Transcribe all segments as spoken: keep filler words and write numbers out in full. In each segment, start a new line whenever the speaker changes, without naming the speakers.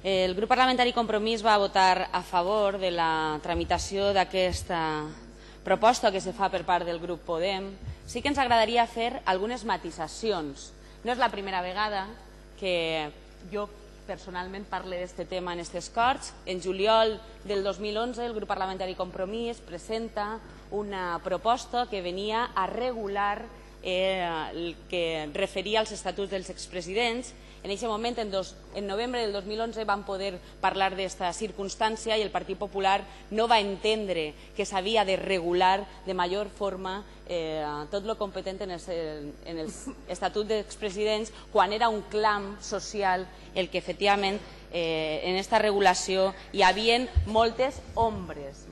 El grup parlamentari Compromís va votar a favor de la tramitació d'aquesta proposta que se fa per part del grup Podem. Sí que ens agradaria fer algunes matisacions. No és la primera vegada que jo personalment parle d'aquest tema en aquestes Corts. En juliol del dos mil onze el grup parlamentari Compromís presenta una proposta que venia a regular eh, el que referia als estatuts dels expresidents. En aquest moment, en, dos, en novembre del dos mil onze, vam poder parlar d'aquesta circumstància i el Partit Popular no va entendre que s'havia de regular de major forma eh, tot el competent en els, en els estatuts d'expresidents quan era un clam social el que efectivament eh, en aquesta regulació hi havia moltes ombres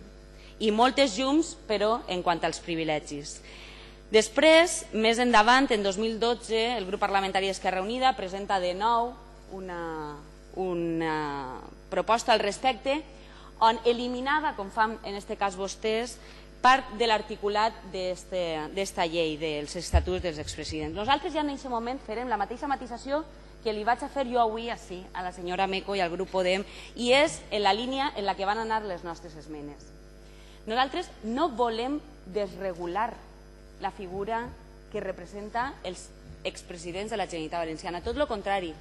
i moltes llums, però en quant als privilegis. Després, més endavant, en dos mil dotze, el grup parlamentari d'Esquerra Unida presenta de nou una, una proposta al respecte on eliminava, com fan en aquest cas vostès, part de l'articulat d'esta llei dels estatuts dels expresidents. Nosaltres ja en aquest moment farem la mateixa matisació que li vaig a fer jo avui així a la senyora Meco i al grup Podem, i és en la línia en la que van anar les nostres esmenes. Nosaltres no volem desregular la figura que representa els expresidents de la Generalitat Valenciana. Tot el contrari,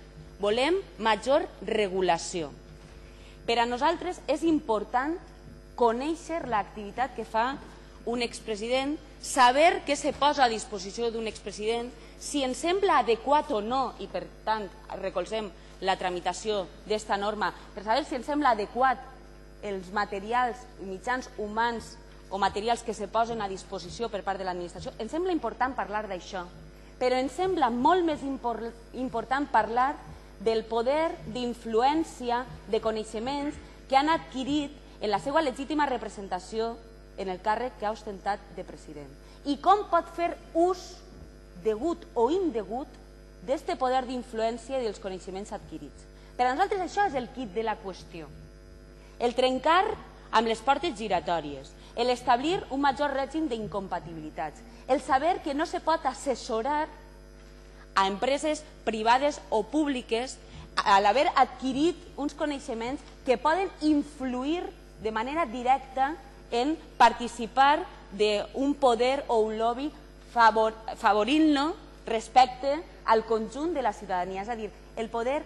volem major regulació. Per a nosaltres és important conèixer l'activitat que fa un expresident, saber què se posa a disposició d'un expresident, si ens sembla adequat o no, i per tant recolzem la tramitació d'esta norma, per saber si ens sembla adequat els materials i mitjans humans o materials que se posen a disposició per part de l'administració. Ens sembla important parlar d'això, però ens sembla molt més important parlar del poder d'influència, de coneixements que han adquirit en la seva legítima representació en el càrrec que ha ostentat de president. I com pot fer ús degut o indegut d'aquest poder d'influència i dels coneixements adquirits. Per a nosaltres això és el quid de la qüestió. El trencar amb les portes giratòries, l'establir un major règim d'incompatibilitats, el saber que no se pot assessorar a empreses privades o públiques a l'haver adquirit uns coneixements que poden influir de manera directa en participar d'un poder o un lobby favorint-lo respecte al conjunt de la ciutadania. És a dir, el poder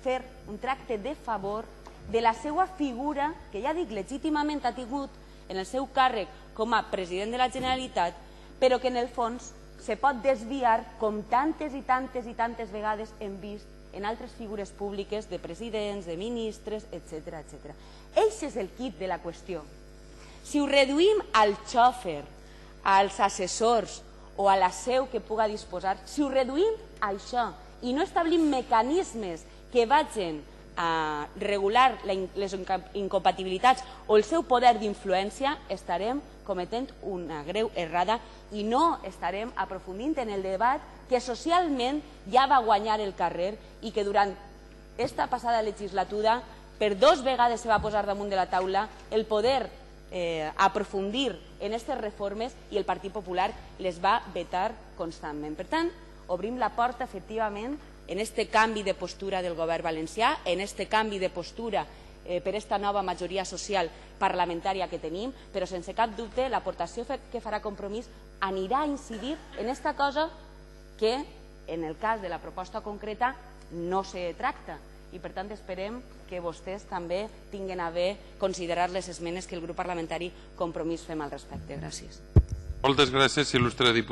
fer un tracte de favor de la seva figura, que ja dic legítimament ha tingut en el seu càrrec com a president de la Generalitat, però que en el fons se pot desviar com tantes i tantes i tantes vegades hem vist en altres figures públiques de presidents, de ministres, etcètera. Això és el quid de la qüestió. Si ho reduïm al xòfer, als assessors o a la seu que puga disposar, si ho reduïm a això i no establim mecanismes que vagin a regular les incompatibilitats o el seu poder d'influència, estarem cometent una greu errada i no estarem aprofundint en el debat que socialment ja va guanyar el carrer i que durant esta passada legislatura per dos vegades se va posar damunt de la taula el poder aprofundir en aquestes reformes i el Partit Popular les va vetar constantment. Per tant, obrim la porta efectivament en aquest canvi de postura del govern valencià, en aquest canvi de postura per aquesta nova majoria social parlamentària que tenim, però sense cap dubte l'aportació que farà Compromís anirà a incidir en aquesta cosa que en el cas de la proposta concreta no se tracta i per tant esperem que vostès també tinguin a bé considerar les esmenes que el grup parlamentari Compromís fem al respecte. Gràcies.
Moltes gràcies, il·lustre diputat.